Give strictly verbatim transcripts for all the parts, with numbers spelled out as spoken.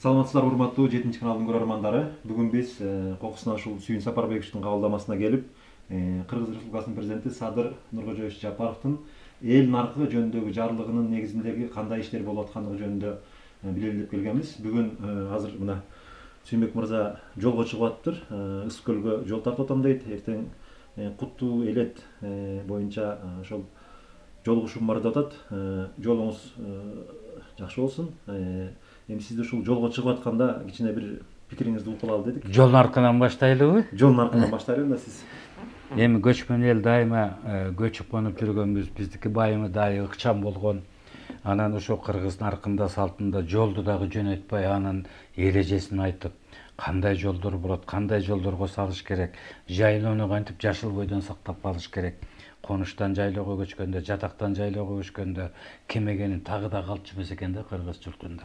Саламатсыздарбы урматтуу жетинчи каналдын көрөрмандары. Бүгүн биз Кокусунан ушул Сүйүн Сапарбековичтин кабылдамасына келип, Кыргыз Республикасынын президенти Садыр Нуркожоевич Жапаровдун эл наркы жөнүндөгү жарлыгынын негизиндеги кандай иштер болуп аткандыгы жөнүндө билели деп келгенбиз. Бүгүн азыр мына Сүйүнбек мырза жолго чыгып атыптыр. Ысык көлгө жол тартып атам дейт. Эртең Куттуу Элет боюнча ошол жолугушуум бар деп атат. Жолуңуз жакшы болсун. Эми сизди ушул жолго чыгып атканда кичине бир пикириңизди угуп алалы дедик. Жол наркынан баштайлыбы? Жол наркынан баштайлы да сиз. Эми көчмөн эл дайыма көчүп конуп жүргөнбүз. Биздики байымы дайы ыкчам болгон. Анан ошо кыргыз наркында салтында жолду дагы жөнөтпөй анын эрежесин айтып, кандай жолдор болот, кандай жолдорго салыш керек, жайлоону кантип жашыл бойдон сактап калыш керек. Конуштан жайлоого көчкөндө, жатактан жайлоого көчкөндө кемегенин тагы да калчу эмес экен да кыргыз журтунда.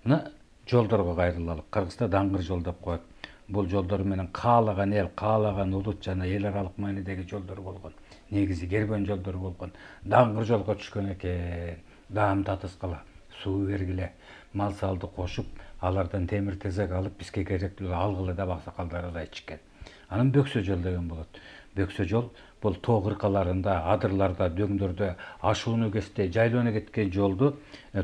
Мына жолдорго кайрылалы. Кыргызда даңгыр жол деп коет. Бул жолдор менен каалаган эл, каалаган улут жана эл аралык маанидеги жолдор болгон. Негизи кербен жолдор болгон. Даңгыр жолго түшкөн экен. Даам татыскала, суу бергиле, мал салды кошуп, алардан темир тезек алып бизге керектүү алгылы деп аксакалдар айтышкан. Анан бөксө жол деген болот. Бөксө жол бул тоо кыркаларында, адырларда, дөңдөрдө ашууну кестей жайлоону кеткен жолду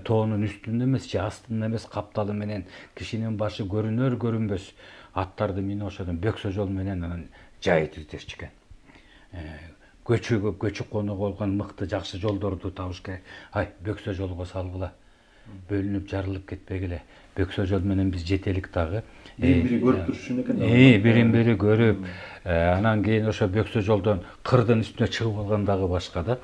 тоонун үстүндө эмес, же астында эмес, капталы менен кишинин башы көрүнөр көрүнбөс аттарды минип ошодон бөксө жол менен анан жайыт издешчү экен. Көчүгө көчүп конууга болгон мыкты жакшы жолдорду табыш керек. Ай, бөксө жолго салгыла. Бөлүнүп жарылып кетпегиле. Бөксө жол менен биз жетелик дагы. Бири-бири көрүп турушун экен. Э, бирин-бири көрүп, анан кийин ошо бөксө жолдон кырдын үстүнө чыгып алган дагы башка да.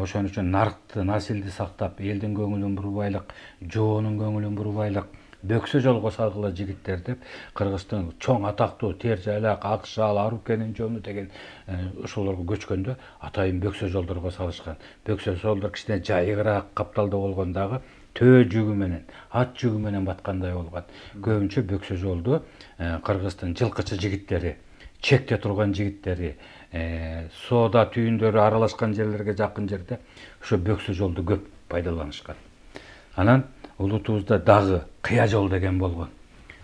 Ошон үчүн наркты, насилди сактап, элдин көңүлүн бурбайлык, жоонун көңүлүн бурбайлык бөксө жолго салгыла жигиттер деп Кыргыздын чоң атактуу Тер жайлак, Акшал, Арукенин жолу деген ошолорго көчкөндө атайын бөксө жолдорго салышкан. Бөксө жолдор кичине жайыгыраак капталда болгон дагы төө жүгү менен, ат жүгү менен баткандай болгон. Көбүнчө бөксө жолду Кыргыздын жылкычы жигиттери, чекте турган жигиттери, соода түйүндөрү аралашкан жерлерге жакын жерде ошо бөксө жолду көп пайдаланышкан. Анан улутубузда дагы кыя жол деген болгон.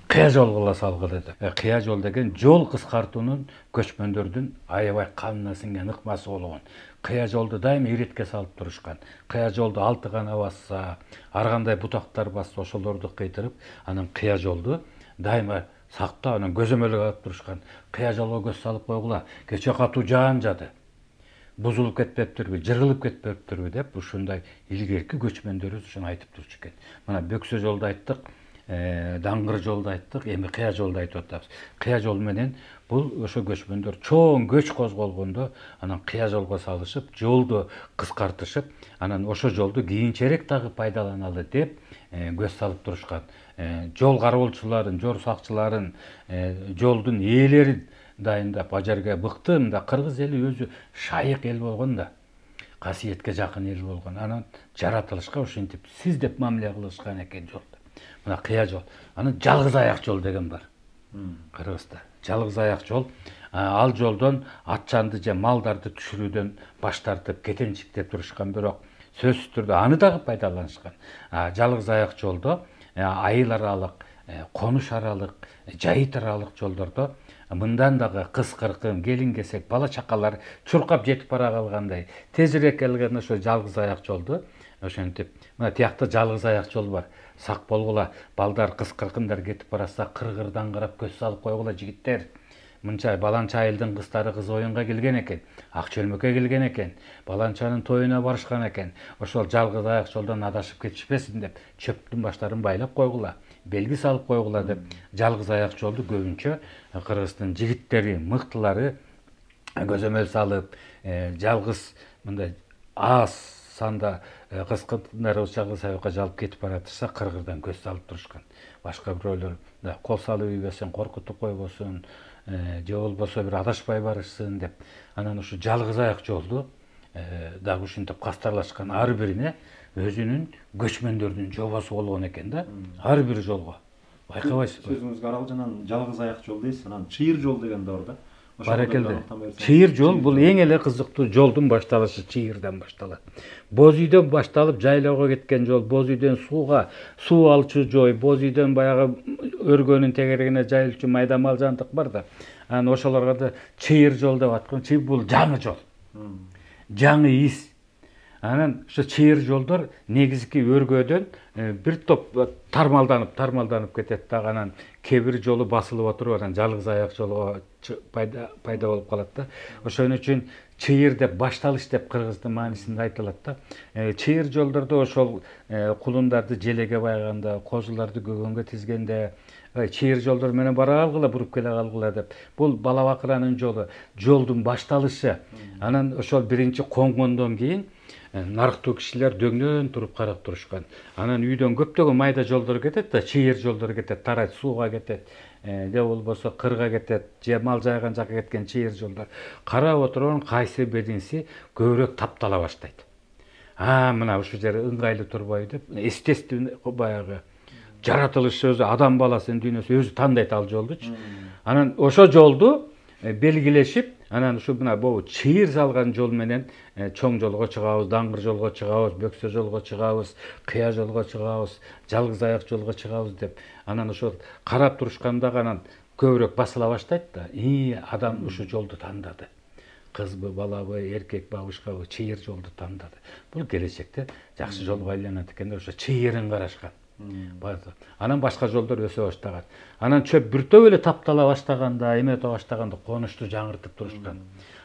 Кыя жолго салгыла деп. Кыя жол деген жол кыскартуунун көчмөндөрдүн аябай канына сиңген ыкмасы болгон. Кыя жолду дайыма иретке салып турушкан. Кыя жолду алты гана басса, ар кандай бутактар басса ошолорду кыйтырып, анан кыя жолду дайыма сактап, анан көзөмөлгө алып турушкан. Кыя жолго көз салып койгула, кече катуу жаан жады. Бузулуп кетпептирби, жырылып кетпептирби деп ушундай илгерки көчмөндөрүбүз ушуну айтып турчу экен. Мына бөксө жолду айттык, даңгыр жолду айттык, эми кыя жолду айтып атабыз. Кыя жол менен бул ошо көчмөндөр чоң көч козголгондо анан кыя жолго салышып, жолду кыскартышып, анан ошо жолду кийинчерээк дагы пайдаланалы деп көз салып турушкан. Жол кароолчуларын, жол сакчыларын, жолдун ээлерин дайындап, ажарга быкты. Мында кыргыз эли өзү шайык эл болгон да, касиетке жакын эл болгон. Анан жаратылышка ушинтип сиз деп мамиле кылышкан экен жолду. Мына кыя жол. Анан жалгыз аяк жол деген бар. Кыргызда жалгыз аяк жол. Ал жолдон атчанды же малдарды түшүрүүдөн баш тартып кетенчиктеп турушкан, бирок сөзсүз түрдө аны дагы пайдаланышкан. Жалгыз аяк жолдо айыл аралык, конуш аралык, жайыт аралык жолдордо мындан дагы кыз кыркын, келин кесек, бала чакалар чуркап жетип бара калгандай тезирээк келген ошо жалгыз аяк жолду ошентип, мына тиякта жалгыз аяк жол бар. Сак болгула, балдар кыз кыркындар кетип баратса кыргырдан карап көз салып койгула жигиттер. Мынча баланча айылдын кыздары кыз оюнга келген экен, ак чөлмөккө келген экен, баланчанын тоюна барышкан экен. Ошол жалгыз аяк жолдон адашып кетишпесин деп чөптүн баштарын байлап койгула, белги салып койгула деп жалгыз аяк жолду көбүнчө Кыргыздын жигиттери, мыктылары көзөмөл салып, жалгыз мындай аз санда кыз кыркындар жалгыз аякка жалып кетип баратырса кыргырдан көз салып турушкан. Башка бирөөлөр кол салып ийбесин, коркутуп койбосун, же болбосо бир адашпай барышсын деп анан ушу жалгыз аяк жолду дагы ушинтип кастарлашкан. Ар бирине өзүнүн көчмөндөрдүн жобосу болгон экен да. Ар бир жолго. Байкабайсызбы? Сөзүңүзгө аралжанан жалгыз аяк жол дейсиз, анан чыйыр жол деген да бар да. Баракелде. Чыйыр жол бул эң эле кызыктуу жолдун башталышы чыйырдан башталат. Боз үйдөн башталып жайлоого кеткен жол, боз үйдөн сууга, суу алчу жой, боз үйдөн баягы өргөнүн тегерегине жайылчу майда мал жантык бар да. Анан ошолорго да чыйыр жол деп аткан. Чыйыр бул жаңы жол. Жаңы из. Анан ошо чыйыр жолдор негизги өргөдөн бир топ тармалданып, тармалданып кетет да. Анан кээ бир жолу басылып отуруп, анан жалгыз аяк жолго пайда пайда болуп калат да. Ошон үчүн чыйыр деп башталыш деп кыргыздын маанисинде айтылат да. Чыйыр жолдордо ошол кулундарды желеге байганда, козуларды көгөнгө тизгенде, чыйыр жолдор менен бара алгыла, буруп келе калгыла деп. Бул бала бакыранын жолу, жолдун башталышы. Анан ошол биринчи коңгондон кийин нарыктуу кишилер дөңнөн туруп карап турушкан. Анан үйдөн көптөгөн майда жолдор кетет да, чыйыр жолдор кетет, тарайт, сууга кетет, же болбосо кырга кетет, же мал жайган жакка кеткен чыйыр жолдор. Карап отурган кайсы биринси көбүрөөк таптала баштайт. А, мына ушул жери ыңгайлуу турбайбы деп, естественно баягы жаратылышы өзү, адам баласынын дүйнөсү өзү тандайт ал жолдучу. Анан ошо жолду белгилешип, анан ушу мына бул чыйыр салган жол менен чоң жолго чыгабыз, даңгыр жолго чыгабыз, бөксө жолго чыгабыз, кыя жолго чыгабыз, жалгыз аяк жолго чыгабыз деп. Анан ошол карап турушканда анан көбүрөөк басыла баштайт да. И, адам ушу жолду тандады. Кызбы, балабы, эркек бабышкабы, чыйыр жолду тандады. Бул келечекте жакшы жолго айланат экен деп ошо чыйырын карашкан. Анан башка жолдор өсө баштаган. Анан чөп бүртөп эле таптала баштаганда, эме өтө баштаганда конушту жаңыртып турушкан.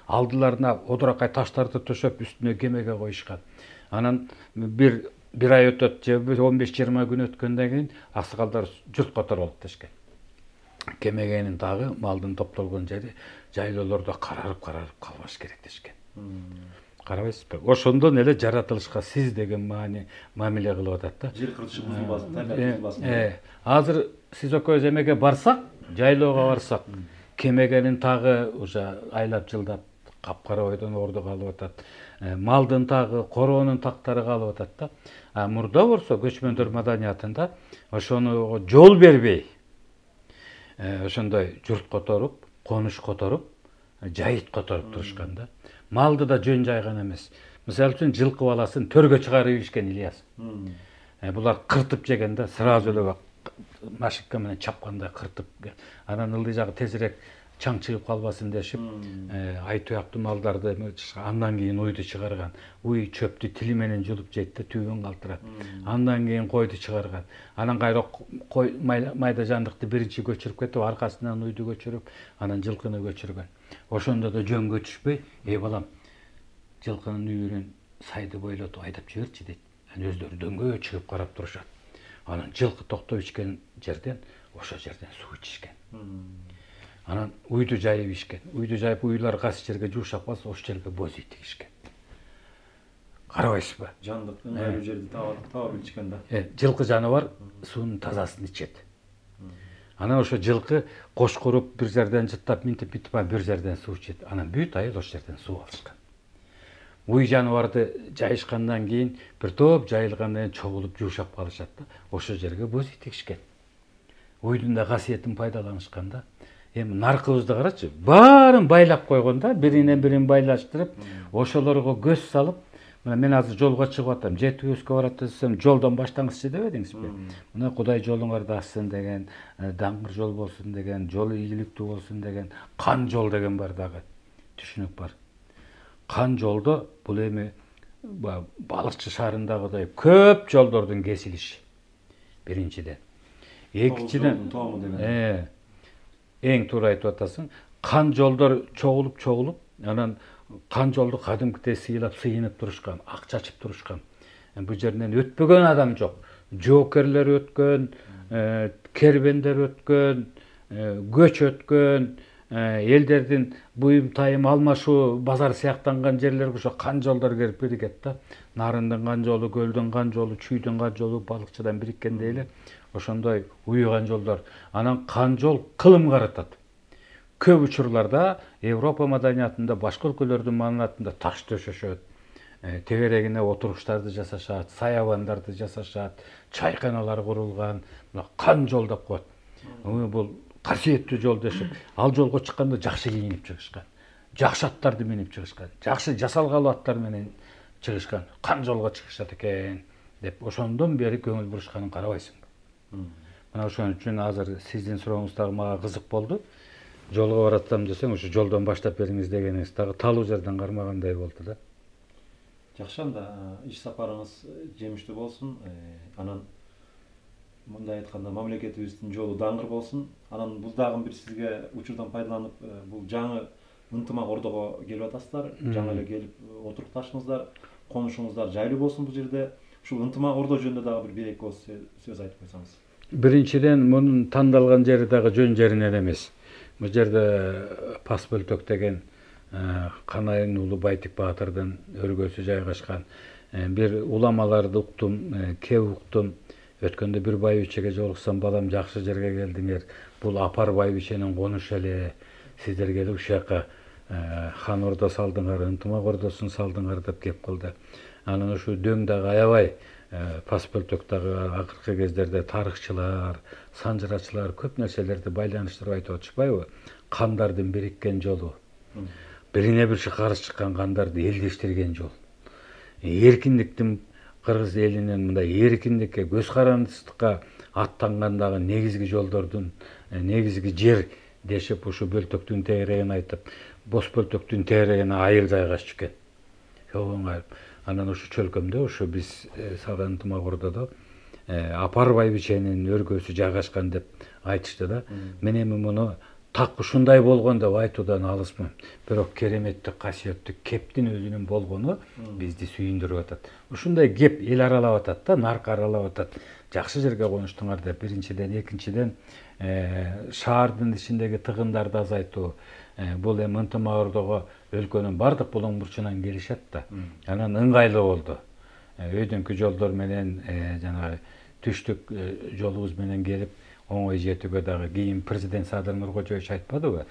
Алдыларына одуракай таштарды төшөп үстүнө кемеге коюшкан. Анан бир бир ай өтөт, же он беш жыйырма күн өткөндөн кийин аксакалдар журт которолуп дешкен. Кемегенин тагы малдын топтолгон жери жайлоолордо карарып-карарып калбаш керек дешкен. Карабайсызбы? Ошондон эле жаратылышка сиз деген маани мамиле кылып атат да. Жер кыртышы бузулбасын, табиат бузулбасын. Э, азыр сиз экөөбүз эмеге барсак, жайлоого барсак, кемегенин тагы уже айлап жылдап капкара ойдон орду калып атат. Малдын тагы, короонун тактары калып атат да. А мурда болсо көчмөндөр маданиятында ошону жол бербей, ошондой журт которуп, конуш которуп, жайыт которуп турушкан да. Малды да жөн жайган эмес. Мисалы үчүн жылкы баласын төргө чыгарып ийишкен Ильяс. Булар кыртып жеген да, сразу эле машинка менен чапкандай кыртып. Анан ылдый жагы тезирээк чаң чыгып калбасын дешип, ай туяктуу малдарды андан кийин уйду чыгарган. Уй чөптү тили менен жулуп жейт да, түбүн калтырат. Андан кийин койду чыгарган. Анан кайра кой майда жандыкты биринчи көчүрүп кетип, аркасынан уйду көчүрүп, анан жылкыны көчүргөн. Ошондо да жөнгө түшпөй, "Эй балам, жылкынын үйүрүн сайды бойлотуп айдап жиберчи" дейт. Анан өздөрү дөңгө чыгып карап турушат. Анан жылкы токтоп ичкен жерден, ошо жерден суу ичишкен. Анан уйду жайып ичкен. Уйду жайып, уйлар кайсы жерге жуушап калса, ошол жерге боз үй тигишкен. Карабайсызбы? Жандык ыңгайлуу жерди таап билишкен да. Э, жылкы жаныбар суунун тазасын ичет. Анан ошо жылкы кош куруп бир жерден жыттап минтип бүтүп, бир жерден суу ичет. Анан бүт айыл ошол жерден суу алышкан. Уй жаныбарды жайышкандан кийин бир топ жайылгандан кийин чогулуп жуушап калышат да. Ошол жерге боз үй тигишкен. Уйдун да касиетин пайдаланышкан да. Эми наркыбызды карачы, баарын байлап койгон да, биринен бирин байлаштырып, ошолорго көз салып, мына мен азыр жолго чыгып атам, жетүүбүзгө барат десем, жолдон баштаңызчы дебедиңизби? Мына Кудай жолуңарды ачсын деген, даңгыр жол болсун деген, жолу ийгиликтүү болсун деген, кан жол деген бар дагы. Түшүнүк бар. Кан жолдо бул эми балыкчы шаарындагыдай көп жолдордун кесилиши. Биринчиден. Экинчиден, э, эң туура айтып атасың, кан жолдор чогулуп-чогулуп, анан кан жолду кадимкидей сыйлап, сыйынып турушкан, ак чачып турушкан. Бул жерден өтпөгөн адам жок. Жоокерлер өткөн, кербендер өткөн, көч өткөн, элдердин буюм тайым алмашуу, базар сыяктанган жерлерге ошо кан жолдор келип биригет да. Нарындын кан жолу, көлдүн кан жолу, чүйдүн кан жолу балыкчыдан бириккендей эле ошондой уюган жолдор. Анан кан жол кылым каратат. Көп учурларда Европа маданиятында, башка өлкөлөрдүн маданиятында таш төшөшөт, тегерегине отуруштарды жасашат, саябандарды жасашат, чайканалар курулган, кан жол деп коет. Бул касиеттүү жол дешип, ал жолго чыкканда жакшы кийинип чыгышкан. Жакшы аттарды минип чыгышкан. Жакшы жасалгалуу аттар менен чыгышкан. Кан жолго чыгышат экен деп ошондон бери көңүл бурушканын карабайсыңбы? Мына ошон үчүн азыр сиздин сурооңуз дагы мага кызык болду. Жолго баратсам десең, ошо жолдон баштап бериңиз дегениңиз дагы талуу жерден кармагандай болду да. Жакшы, анда иш сапарыңыз жемиштүү болсун. Анан мындай айтканда мамлекетибиздин жолу даңгыр болсун. Анан бул дагы бир сизге учурдан пайдаланып, бул жаңы ынтымак ордого келип атасыздар. Жаңы эле келип отурукташыңыздар, конушуңуздар жайлуу болсун бул жерде. Ушул ынтымак ордо жөнүндө дагы бир бир эки ооз сөз айтып койсоңуз. Биринчиден, мунун тандалган жери дагы жөн жеринен эмес. Бул жерде Пас Бөлтөк деген Канайын уулу Байтик баатырдын өргөсү жайгашкан. Бир уламаларды уктум, кеп уктум. Өткөндө бир байбичеге жолуксам, балам жакшы жерге келдиңер. Бул апар байбиченин конушу эле. Сиздер келип ушул жака хан ордо салдыңар, ынтымак ордосун салдыңар деп кеп кылды. Анан ушу дөң дагы аябай Пас Бөлтөк дагы акыркы кездерде тарыхчылар, санжырачылар көп нерселерди байланыштырып айтып атышпайбы? Кандардын бириккен жолу. Бирине бириши каршы чыккан кандарды элдештирген жол. Эркиндиктин кыргыз элинин мындай эркиндикке, көз карандысыздыкка аттангандагы негизги жолдордун, негизги жер дешип ушу Бөлтөктүн тегерегин айтып, Бос Бөлтөктүн тегерегине айыл жайгашчу экен. Чогуу айып. Анан ушу чөлкөмдө, ушу биз салган ынтымак ордодо апар байбиченин өргөсү жайгашкан деп айтышты да. Мен эми муну так ушундай болгон деп айтуудан алысмын. Бирок кереметтүү, касиеттүү кептин өзүнүн болгону бизди сүйүндүрүп атат. Ушундай кеп эл аралап атат да, нарк аралап атат. Жакшы жерге конуштуңар деп биринчиден, экинчиден шаардын ичиндеги тыгындарды азайтуу. Бул эми ынтымак ордого өлкөнүн бардык булуң бурчунан келишет да. Анан ыңгайлуу болду. Өйдүңкү жолдор менен жанагы түштүк жолубуз менен келип оңой жетүүгө дагы кийин президент Садыр Нуркожоевич айтпадыбы?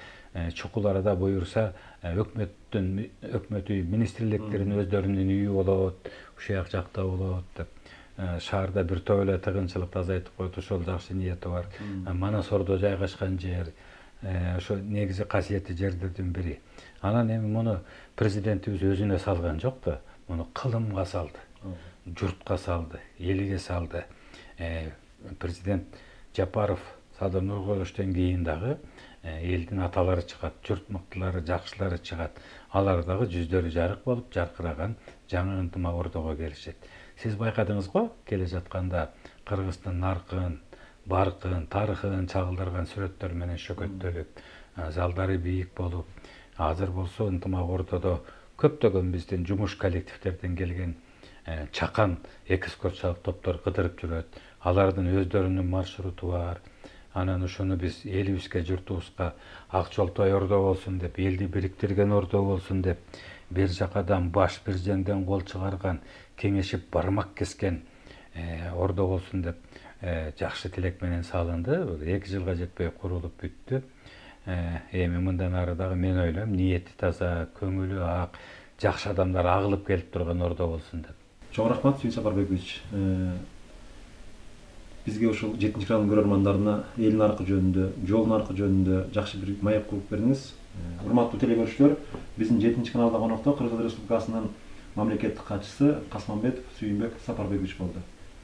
Чукул арада буюрса өкмөттүн өкмөт үй министрликтерин өздөрүнүн үйү болот, ушул жакта болот деп. Шаарда бир топ эле тыгынчылыкты азайтып койду, ошол жакшы ниети бар. Манас ордо жайгашкан жер, ошо негизи касиеттүү жерлердин бири. Анан эми муну президентибиз өзүнө салган жок да, муну кылымга салды, журтка салды, элге салды. Президент Жапаров Садыр Нуркожоевичтен кийин дагы элдин аталары чыгат, журт мыктылары, жакшылары чыгат. Алар дагы жүздөрү жарык болуп, жаркыраган жаңы ынтымак ордого келишет. Сиз байкадыңызго, келе жатканда Кыргыздын наркын, баркын, тарыхын чагылдырган сүрөттөр менен шөкөттөлүп, залдары бийик болуп, азыр болсо ынтымак ордодо көптөгөн биздин жумуш коллективдерден келген чакан экскурсиялык топтор кыдырып жүрөт. Алардын өздөрүнүн маршруту бар. Анан ушуну биз элибизге, журтубузга ак жолтой ордо болсун деп, элди бириктирген ордо болсун деп, бир жакадан баш, бир жеңден кол чыгарган, кеңешип бармак кескен ордо болсун деп жакшы тилек менен салынды. эки жылга жетпей курулуп бүттү. Эми мындан ары дагы мен ойлойм, ниети таза, көңүлү ак, жакшы адамдар агылып келип турган ордо болсун деп. Чоң рахмат, Сүйүн Сапарбекович. Бизге ушул жетинчи каналдын көрөрмандарына эл наркы жөнүндө, жол наркы жөнүндө жакшы бир маек куруп бердиңиз. Урматтуу теле көрүүчүлөр, биздин жетинчи каналда конокто Кыргыз Республикасынын мамлекеттик катчысы Касманбетов Сүйүнбек Сапарбекович болду.